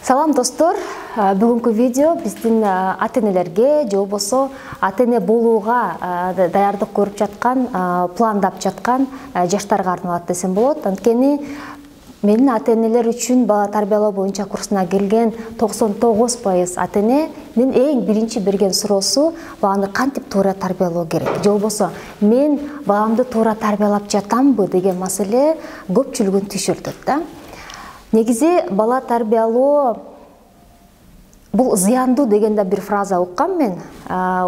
Салам достор, бүгүнкү видео биздин ата-энелерге же болбосо ата-эне болууга даярдык көрүп жаткан, пландап жаткан жаштарга арналат десем болот. Анткени менин ата-энелер үчүн бала тарбиялоо боюнча курсуна келген 99% ата-эненин эң биринчи берген суроосу баланы кантип туура тарбиялоо керек, же болбосо мен баламды туура тарбиялап жатамбы деген маселе көпчүлүгүн түшүртөт да. Негизи бала тарбиялоо бул зыяндуу деген да бир фраза уккам мен.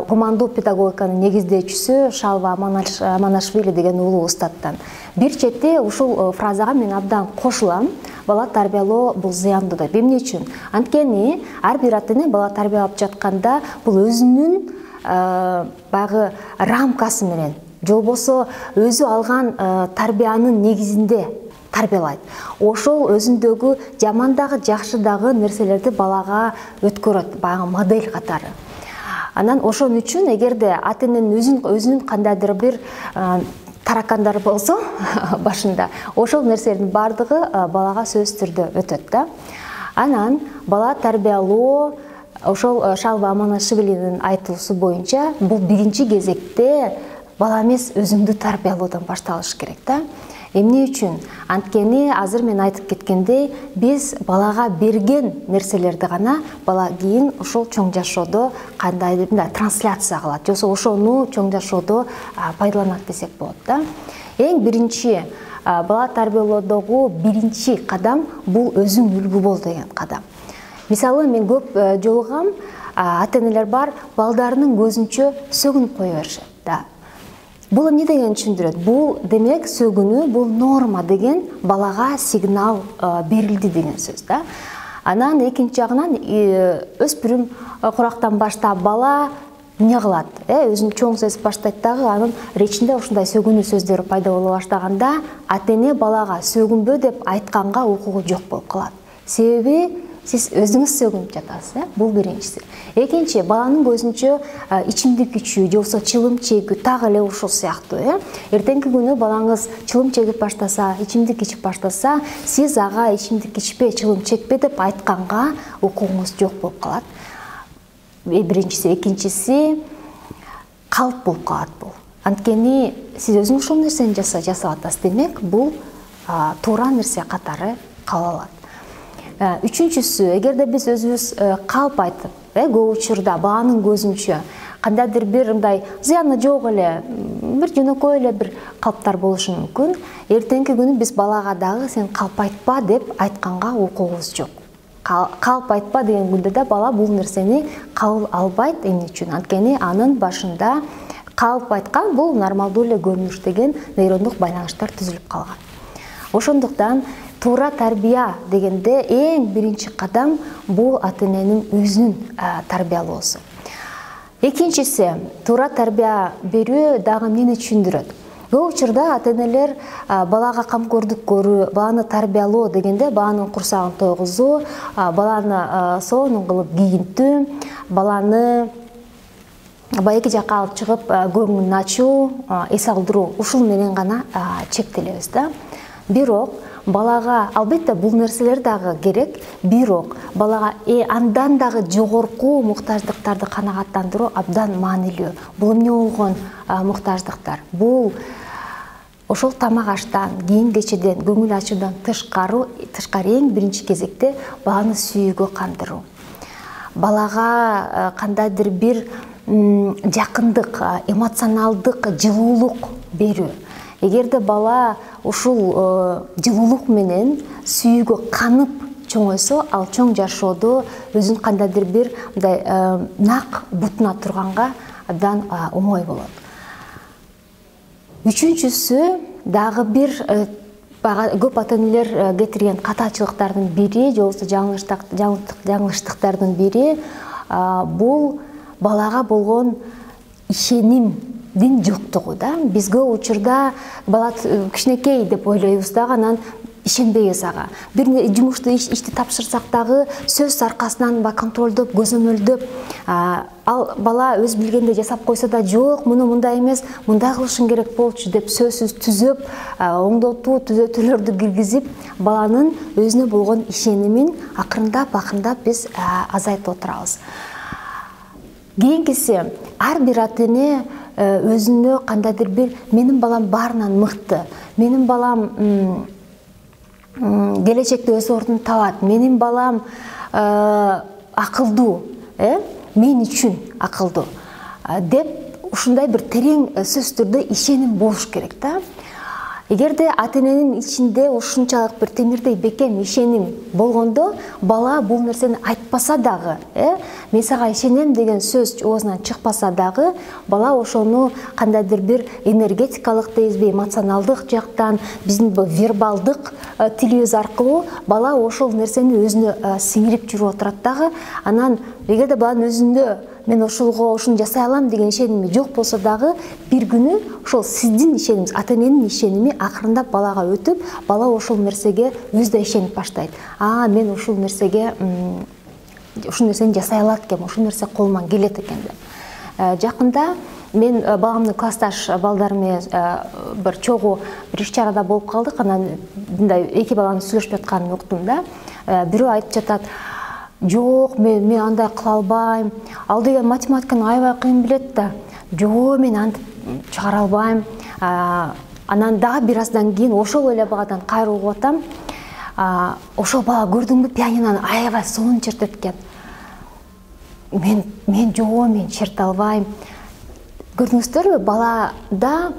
Гумандуу педагогиканын негиздөөчүсү Шалва Аманашвили деген улуу устаттан. Бир чети ушул фразага мен абдан кошулам. Бала тарбиялоо бул зыяндуу деп. Эмне үчүн? Анткени ар бир ата-эне бала тарбиялап жатканда бул өзүнүн баягы рамкасы менен, же болбосо өзү алган тарбиянын негизинде тарбиялайт. Ошол өзүндөгү жаман дагы, жакшы дагы нерселерди балага өткөрөт, баягы модель катары. Анан ошон үчүн эгерде ата-эненин өзүнүн кандайдыр бир таракандары болсо башында, ошол нерселердин баардыгы балага сөзсүз түрдө өтөт да. Анан бала тарбиялоо ошол Шалва Аманашвилинин айтуусу боюнча бул биринчи кезекте бала эмес өзүңдү тарбиялоодон башталыш керек да. Эмне үчүн? Анткени азыр мен айтып кеткендей, биз балага берген нерселерди гана бала кийин ошол чоң жашоодо кандайдыр трансляция кылат, же болбосо ошону чоң жашоодо пайдаланат десек болот да. Эң биринчи бала тарбиялоодогу биринчи кадам бул өзүң үлгү бол деген кадам. Мисалы мен көп жолугам ата-энелер бар, балдарынын көзүнчө сөгүнүп кое беришет да. Бул эмне деген түшүндүрөт? Бул демек сөгүнүү бул норма деген балага сигнал берилди деген сөз да. Анан экинчи жагынан өспүрүм курактан баштап бала эмне кылат? Өзүн чоң сезип баштайт дагы, анын речинде ушундай сөгүнүү сөздөрү пайда боло баштаганда ата-эне балага сөгүнбө деп айтканга укугу жок болуп калат. Себеби сиз өзүңүз сөгүнүп жатасыз, бул биринчиси. Экинчи, баланын көзүнчө ичимдик ичүү, же болбосо чылым чегүү так эле ушул сыяктуу. Эртеңки күнү балаңыз чылым чегип баштаса, ичимдик ичип баштаса, сиз ага ичимдик ичпе, чылым чекпе деп айтканга укугуңуз жок болуп калат. Биринчиси, экинчиси калп болуп калат бул. Анткени сиз өзүңүз ушул нерсени жасап атасыз, демек бул туура нерсе катары кала алат. Үчүнчүсү, эгерде биз өзүбүз калп айтып, көп учурда баланын көзүнчө кандайдыр бир мындай зыяны жок эле, бир жөнөкөй эле бир калптар болушу мүмкүн. Эртеңки күнү биз балага дагы сен калп айтпа деп айтканга укугубуз жок. Калп айтпа деген күндө да бала бул нерсени кабыл албайт. Эмне үчүн? Анткени анын башында калп айткан бул нормалдуу эле көрүнүш деген нейрондук байланыштар түзүлүп калган. Ошондуктан туура тарбия дегенде эң биринчи кадам бул ата-эненин өзүнүн тарбиялоосу. Экинчиси, туура тарбия берүү дагы эмнени түшүндүрөт? Көп учурда ата-энелер балага камкордук көрүү, баланы тарбиялоо дегенде баланын курсагын тойгузуу, баланы сонун кылып кийинтүү, баланы эки жакка алып чыгып көңүлүн ачуу, эс алдыруу, ушул менен гана чектелебиз да. Бирок балага албетте бул нерселер дагы керек, бирок балага андан дагы жогорку муктаждыктарды канагаттандыруу абдан маанилүү. Бул эмне болгон муктаждыктар? Бул ошол тамак аштан, кийим кечеден, көңүл ачуудан тышкары эң биринчи кезекте баланы сүйүүгө кандыруу. Балага кандайдыр бир жакындык, эмоционалдык жылуулук берүү. Эгерде бала ушул жылуулук менен сүйүүгө канып чоңойсо, ал чоң жашоодо өзүн кандайдыр бир мындай нак бутуна турганга абдан оңой болот. Үчүнчүсү дагы бир көп ата-энелер кетирген катачылыктардын бири, же болбосо жаңылыштыктардын бири бул балага болгон ишенимдин жоктугу да. Биз көп учурда бала кичинекей деп ойлойбуз дагы, анан ишенбейбиз ага. Бир жумушту ишти тапшырсак дагы сөз аркасынан контролдоп, көзөмөлдөп, ал бала өз билгендей жасап койсо да жок, муну мындай эмес, мындай кылышың керек болчу деп сөзсүз түзөп, оңдотуу, түзөтүүлөрдү киргизип, баланын өзүнө болгон ишенимин акырындап биз азайтып отурабыз. Кийинкиси, ар бир ата-эне өзүнө кандайдыр бир менин балам баарынан мыкты, менин балам келечекте өз ордун табат, менин балам акылдуу, мен үчүн акылдуу деп ушундай бир терең сөздөрдө ишеним болуш керек да. Эгерде ата-эненин ичинде ушунчалык бир темирдей бекем ишеним болгондо, бала бул нерсени айтпаса дагы, мен сага ишенем деген сөз оозунан чыкпаса дагы, бала ошону кандайдыр бир энергетикалык дейбизби, эмоционалдык жактан, биздин вербалдык тилибиз аркылуу бала ошол нерсени өзүнө сиңирип жүрүп отурат дагы. Анан эгерде баланын өзүндө мен ушуну жасай алам деген ишеними жок болсо дагы, бир күнү ошол сиздин ишенимиңиз, ата-эненин ишеними акырындап балага өтүп, бала ошол нерсеге өзү да ишенип баштайт. Мен ушул нерсени жасай алат экенмин, ушул нерсе колуман келет экен деп. Жакында мен баламдын классташ балдары менен бир чогуу бир иш-чарада болуп калдык. Анан мындай эки баланын сүйлөшүп жатканын уктум да. Бирөө айтып жатат: жок, мен андай кыла албайм, ал деген математиканы аябай кыйын билет да, жок, мен антип чыгара албайм. Анан дагы бир аздан кийин ошол эле баладан кайра угуп атам: ошол бала көрдүңбү, пианинону аябай сонун чертет экен. Мен жок, мен черте албайм. Көрдүңүздөрбү, балада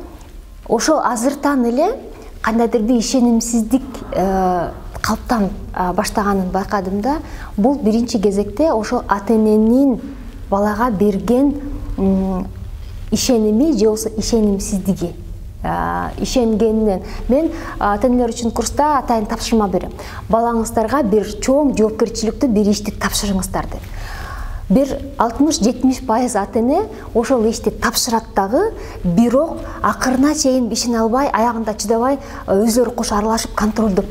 ошол азыртан эле кандайдыр бир ишенимсиздик калыптанып баштаганын байкадым да. Бул биринчи кезекте ошол ата-эненин балага берген ишеними же болбосо ишенимсиздиги. Ишенгенинен мен ата-энелер үчүн курста атайын тапшырма берем. Балаңыздарга бир чоң жоопкерчиликтүү бир ишти тапшырыңыздар деп. Бир 60-70% ата-эне ошол ишти тапшырат дагы, бирок акырына чейин ишене албай, аягында чыдабай, өзлөрү кошо аралашып контролдоп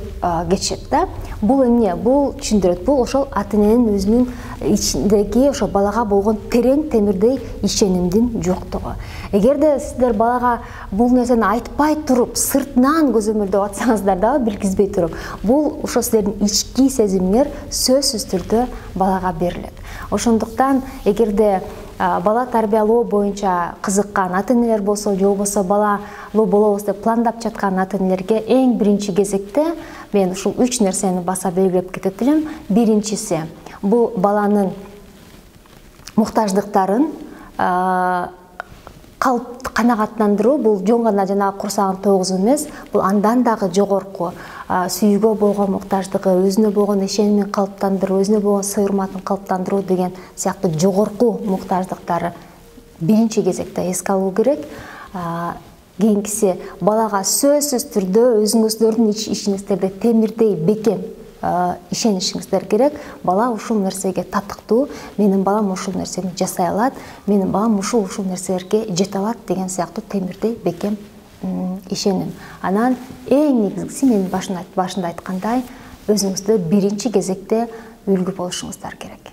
кетишет да. Бул эмне? Бул түшүндүрөт. Бул ошол ата-эненин өзүнүн ичиндеги ошол балага болгон терең темирдей ишенимдин жоктугу. Эгерде сиздер балага бул нерсени айтпай туруп, сыртынан көзөмөлдөп атсаңыздар дагы, билгизбей туруп, бул ошо сиздердин ички сезимиңер сөзсүз түрдө балага берилет. Ошондуктан эгерде бала тарбиялоо боюнча кызыккан ата-энелер болсо, же болбосо балалуу болобуз деп пландап жаткан ата-энелерге эң биринчи кезекте мен ушул 3 нерсени баса белгилеп кетет элем. Биринчиси, бул баланын муктаждыктарын канагаттандыруу. Бул жөн гана жанагы курсагын тогузуу эмес, бул андан дагы жогорку сүйүүгө болгон муктаждыгы, өзүнө болгон ишенимин калыптандыруу, өзүнө болгон сый-урматын калыптандыруу деген сыяктуу жогорку муктаждыктары биринчи кезекте эске алуу керек. Кийинкиси, балага сөзсүз түрдө өзүңүздөрдүн ичиңиздерде темирдей бекем ишенишиңиздер керек. Бала ушул нерсеге татыктуу, менин балам ушул нерсени жасай алат, менин балам ушул нерселерге жете алат деген сыяктуу темирдей бекем ишеним. Анан эң негизгиси, мен башында айткандай, өзүңүздөр биринчи кезекте үлгү болушуңуздар керек.